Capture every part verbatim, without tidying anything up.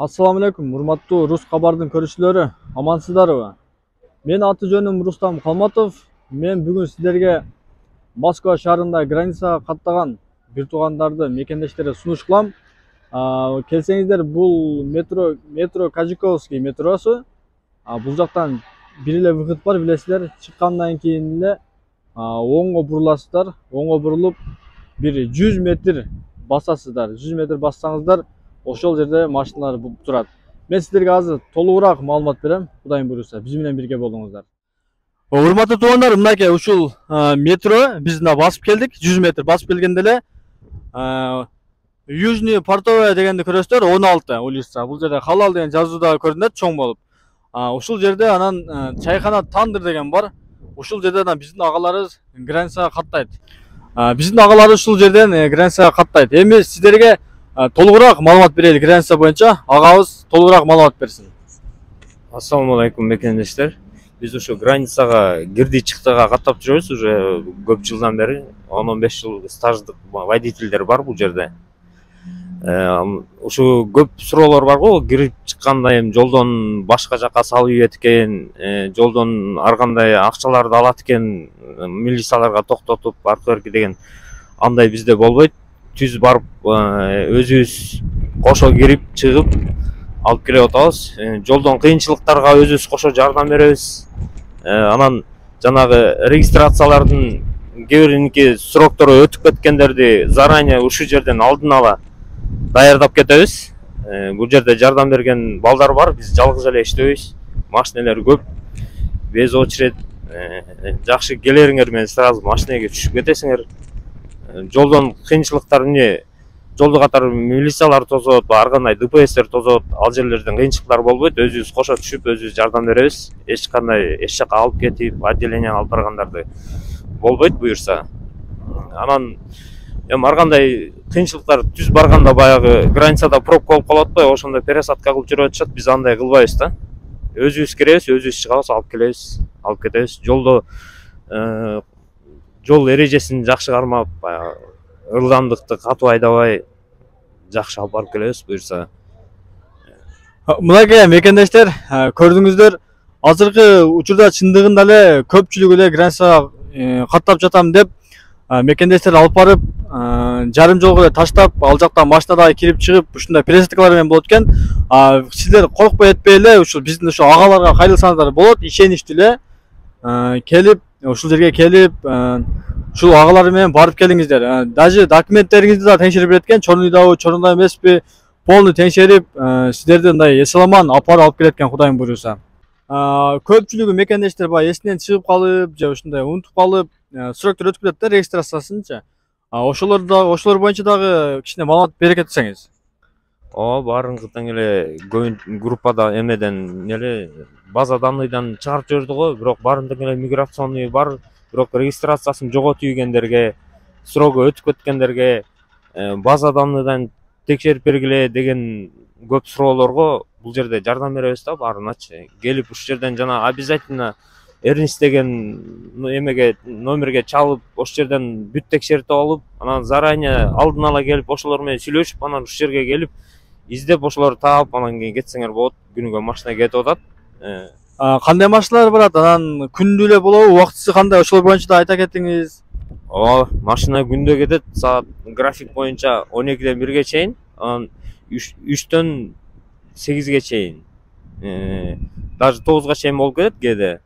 Assalamu alaikum, урматтуу Рус кабардын көрүүчүлөрү, амансыздарбы? Мен аты жөнүм Рустам Калматов. Мен бүгүн сиздерге Москва шаарында границага каттаган бир туугандарды мекендештерге сунуш кылам. Келсеңиздер, бул метро метро Кажиковский метросу. Бул жактан бир эле выход бар, билесиздер. Чыккандан кийин эле оңго буруласыздар. Оңго бурулуп бир жүз метр басасыздар. жүз метр бассаңыздар, ошол жерде машиналар турат. Мен сиздерге азыр толугураак маалымат берем. Кудайым буйруса, биз менен бирге болуңуздар. Урматтуу туугандар, мынакей ушул метро биз мына басып келдик. жүз метр басып келгенде эле Южный Портовая дегенди көрөсүздөр, он алты улица. Бул жерде халал деген жазуу да көрүнөт чоң болуп. Ушул жерде анан чайкана Тандыр деген бар. Ушул жерде биздин агаларыбыз границага каттайт. Биздин агаларыбыз ушул жерден границага каттайт. Эми сиздерге толугураак маалымат берели граница боюнча. Агабыз толугураак маалымат берсин. Ассаламу алейкум мекендештер. Биз ушу границага кирди чыктыга каттап жүрөбүз уже көп жылдан бери. он он беш жыл стаждык водительдер бар бул жерде. Ушу көп суроолор бар го, кирип чыкканда эми жолдон башка жака салып ийет экен, жолдон ар кандай акчаларды алат экен, милицияларга токтотуп аркы берки деген. Андай бизде болбойт. Түз барып өзүбүз кошо кирип чыгып алып келип атабыз. Жолдон кыйынчылыктарга өзүбүз кошо жардам беребиз. Анан жанагы регистрациялардын кээ бириники сроктору өтүп кеткендерди заранее ушул жерден алдын ала даярдап кетебиз. Бул жерде жардам берген балдар бар, биз жалгыз эле иштебейбиз. Машиналар көп. Без очередь жакшы келериңер менен сразу машинеге түшүп кетесиңер. Жолдон кыйынчылыктар эмне? Жолду катар милициялар тосот, ар кандай ДПСтер тосот. Ал жерлерден кыйынчылыктар болбойт. Өзүбүз кошо түшүп, өзүбүз жардам беребиз. Эч кандай эч жака алып кетип, отделенияга алып баргандарды болбойт буюрса. Анан эми ар кандай кыйынчылыктар түз барганда баягы границада пробка болуп калат атпайбы, ошондо пересадка кылып жүрүп атышат. Биз андай кылбайбыз да. Өзүбүз киребиз, өзүбүз чыгабыз, алып келебиз, алып кетебиз. Жолдо жол эрежесин жакшы кармап, ылдамдыкты катуу айдабай жакшы алып барып келебиз буюрса. Мынакей мекендештер, көрдүңүздөр, азыркы учурда чындыгында эле көпчүлүк эле границага каттап жатам деп мекендештер алып барып, жарым жолго эле таштап, ал жактан машинада кирип чыгып, ушундай пересадкалар менен болот экен. Сиздер коркпой этпей эле ушул биздин ушу агаларга кайрылсаңыздар болот, ишеничтүү эле келип, ушул жерге келип, ушул агалар менен барып келиңиздер. Даже документтериңизди да текшерип берет экен, чорнуйдабы, чорнуйда эмеспи, полный текшерип, сиздерди мындай эс-аламан алып барып алып келет экен, Кудайым буйруса. Көпчүлүгү мекендештер баягы эсинен чыгып калып, же ушундай унутуп калып, сроктор өтүп кетет да, регистрациясынчы. Ошолор да, ошолор боюнча дагы кичине маалымат бере кетсеңиз. О, баарыңкы тең эле группада эмеден эле база данныйдан чыгарып жиберди го, бирок баарын тең эле миграционный бар, бирок регистрациясын жоготуп ийгендерге, срогу өтүп кеткендерге база данныйдан текшерип бергиле деген көп суроолорго бул жерде жардам беребиз да баарыначы. Келип ушул жерден жана обязательно Эрнис деген эмеге номерге чалып, ошол жерден бүт текшертип алып, анан заранее алдын ала келип ошолор менен сүйлөшүп, анан ушул жерге келип издеп ошолорду таап, анан кийин кетсеңер болот. Күнүгө машина кетип атат. Кандай машиналар барат? Анан күндү эле болобу, убактысы кандай? Ошол боюнча да айта кетиңиз. Ооба, машина күндө кетет, саат график боюнча он экиден бирге чейин, анан үчтөн сегизге чейин. Даже тогузга чейин болуп кетет кээде.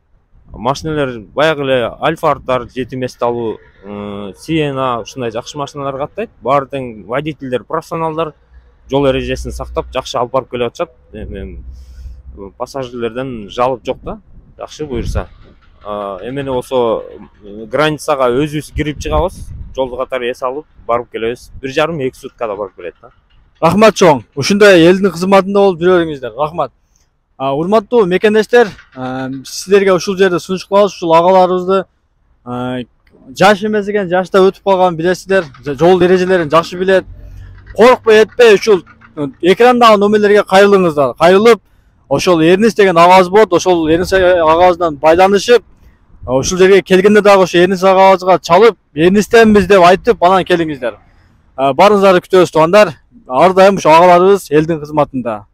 Машиналар баягы эле Альфардар, жети месталуу, Сиена, ушундай жакшы машиналар каттайт. Баары тең водительдер, профессионалдар жол эрежесин сактап, жакшы алып барып келип атышат. Пассажирлерден жалып жок да, жакшы буюрса. Эмне болсо границага өзүбүз кирип чыгабыз, жолду катар эс алып барып келебиз. бир жарым эки суткада барып келет да. Рахмат чоң. Ушундай элдин кызматында болуп жүрөңүздөр. Рахмат. Урматтуу мекендештер, сиздерге ушул жерде сунуш кылабыз, ушул агаларыбызды жаш эмес экен, жашта өтүп калган билесиздер, жол эрежелерин жакшы билет. Коркпой этпей ушул экрандагы номерлерге кайрылыңыздар. Кайрылып, ошол Эрнис деген агабыз болот, ошол Эрнис агабыздан байланышып, ушул жерге келгенде дагы ошо Эрнис агабызга чалып, Эрнистенбиз деп айтып, анан келиңиздер. Барыңыздарды күтөбүз туугандар. Ар дайым ушу агаларыбыз элдин кызматында.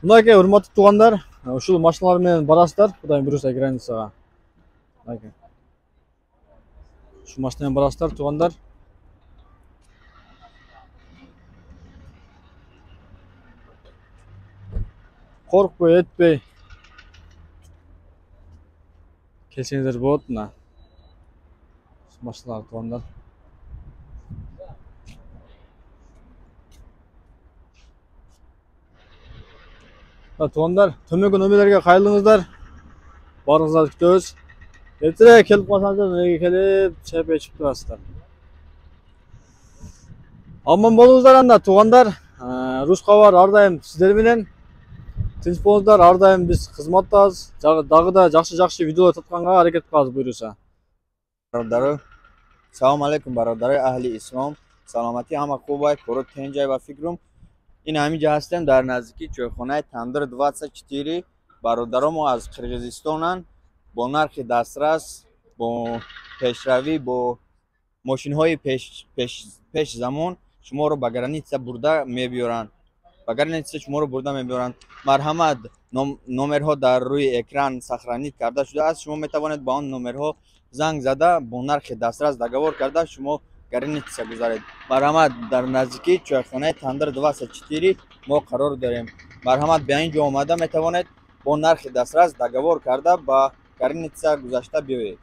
Мынакей урматтуу туугандар, ушул машиналар менен барасыздар Кудайым буйруса границага. Мынакей. Ушул машина менен барасыздар туугандар. Коркпой, этпей келсеңиздер болот мына. Машиналар туугандар. Туугандар, төмөнкү номерлерге кайрылыңыздар. Баарыңыздарды күтөбүз. Эртерээк келип калсаңыздар, неге келип, чайпай ичип турасыздар. Аман болуңуздар анда туугандар. Рус кабар ар дайым сиздер менен. Тынч болуңуздар, ар дайым биз кызматтабыз. Дагы да жакшы-жакшы видеолор татканга аракет кылабыз буйруса. Бародари, салом алейкум бародари аҳли ислом. Саломати ҳама хубай, кору тенҷай ва фикрум. Ин ҳамиҷа ҳастем дар наздики чойхонаи Тандир двадцать четыре. Бародаромо аз Қирғизистонан бо нархи дастрас, бо пешравӣ, бо мошинҳои пеш замон шуморо ба граница бурда мебиёранд. Ба граница шуморо бурда мебиёранд. Марҳамат, номерҳо дар рӯи экран сохранит карда шудааст. Шумо метавонед ба он номерҳо занг зада бо нархи дастрас договор карда шумо граница гузаред. Марҳамат, дар наздики чойхонаи Тандир двадцать четыре мо қарор дорем. Марҳамат, ба ин ҷо омада метавонед бо нархи дастрас договор карда ба граница гузашта биёед.